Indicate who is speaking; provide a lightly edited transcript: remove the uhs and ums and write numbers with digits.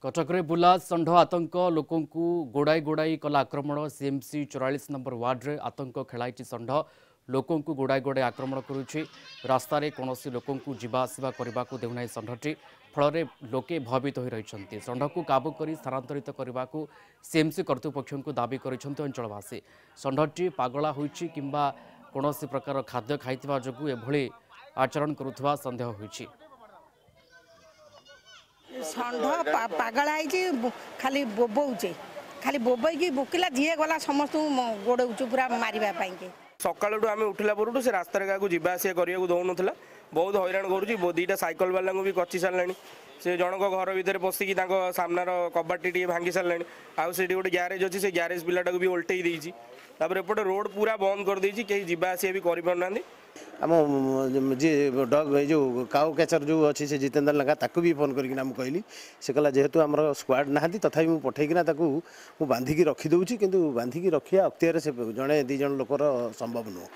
Speaker 1: କଟକରେ ବୁଲା ଷଣ୍ଢ ଆତଙ୍କ, ଲୋକଙ୍କୁ ଗୋଡ଼ାଇ ଗୋଡ଼ାଇ କଲା ଆକ୍ରମଣ। ସିଏମ୍ସି 44 ନମ୍ବର ୱାର୍ଡରେ ଆତଙ୍କ ଖେଳାଇଛି ଷଣ୍ଢ। ଲୋକଙ୍କୁ ଗୋଡ଼ାଇ ଗୋଡ଼ାଇ ଆକ୍ରମଣ କରୁଛି। ରାସ୍ତାରେ କୌଣସି ଲୋକଙ୍କୁ ଯିବା ଆସିବା କରିବାକୁ ଦେଉନାହିଁ ଷଣ୍ଢଟି। ଫଳରେ ଲୋକେ ଭୟଭୀତ ହୋଇ ରହିଛନ୍ତି। ଷଣ୍ଢକୁ କାବୁ କରି ସ୍ଥାନାନ୍ତରିତ କରିବାକୁ ସିଏମ୍ସି କର୍ତ୍ତୃପକ୍ଷଙ୍କୁ ଦାବି କରିଛନ୍ତି ଅଞ୍ଚଳବାସୀ। ଷଣ୍ଢଟି ପାଗଳା ହୋଇଛି କିମ୍ବା କୌଣସି ପ୍ରକାର ଖାଦ୍ୟ ଖାଇଥିବା ଯୋଗୁଁ ଏଭଳି ଆଚରଣ କରୁଥିବା ସନ୍ଦେହ ହୋଇଛି।
Speaker 2: ଷଣ୍ଢ ପାଗଳା ହେଇଛି, ଖାଲି ବୋବଉଛି, ଖାଲି ବୋବେଇକି ବୁକିଲା। ଯିଏ ଗଲା ସମସ୍ତଙ୍କୁ ଗୋଡ଼ଉଛୁ ପୁରା ମାରିବା ପାଇଁକି।
Speaker 3: ସକାଳଠୁ ଆମେ ଉଠିଲା ପରଠୁ ସେ ରାସ୍ତାରେ କାହାକୁ ଯିବା ଆସିବା କରିବାକୁ ଦେଉନଥିଲା, ବହୁତ ହଇରାଣ କରୁଛି। 2ଟା ସାଇକେଲ ବାଲାଙ୍କୁ ବି କଚି ସାରିଲାଣି। ସେ ଜଣଙ୍କ ଘର ଭିତରେ ପଶିକି ତାଙ୍କ ସାମ୍ନାର କବାଟଟି ଟିକେ ଭାଙ୍ଗି ସାରିଲାଣି। ଆଉ ସେଠି ଗୋଟେ ଗ୍ୟାରେଜ ଅଛି, ସେ ଗ୍ୟାରେଜ ପିଲାଟାକୁ ବି ଓଲଟେଇ ଦେଇଛି। ତାପରେ ଏପଟେ ରୋଡ଼ ପୁରା ବନ୍ଦ କରିଦେଇଛି, କେହି ଯିବା ଆସିବା ବି କରିପାରୁନାହାନ୍ତି।
Speaker 4: ଆମ ଯିଏ ଡଗ୍, ଏଇ ଯେଉଁ କାଉ କ୍ୟାଚର ଯେଉଁ ଅଛି, ସେ ଜିତେନ୍ଦ୍ର ଲେଙ୍କା, ତାକୁ ବି ଫୋନ୍ କରିକିନା ମୁଁ କହିଲି। ସେ କହିଲା ଯେହେତୁ ଆମର ସ୍କ୍ୱାଡ଼ ନାହାନ୍ତି, ତଥାପି ମୁଁ ପଠେଇକିନା ତାକୁ ମୁଁ ବାନ୍ଧିକି ରଖିଦେଉଛି। କିନ୍ତୁ ବାନ୍ଧିକି ରଖିବା ଅକ୍ତିଆରେ ସେ ଜଣେ 2 ଜଣ ଲୋକର ସମ୍ଭବ ନୁହଁ।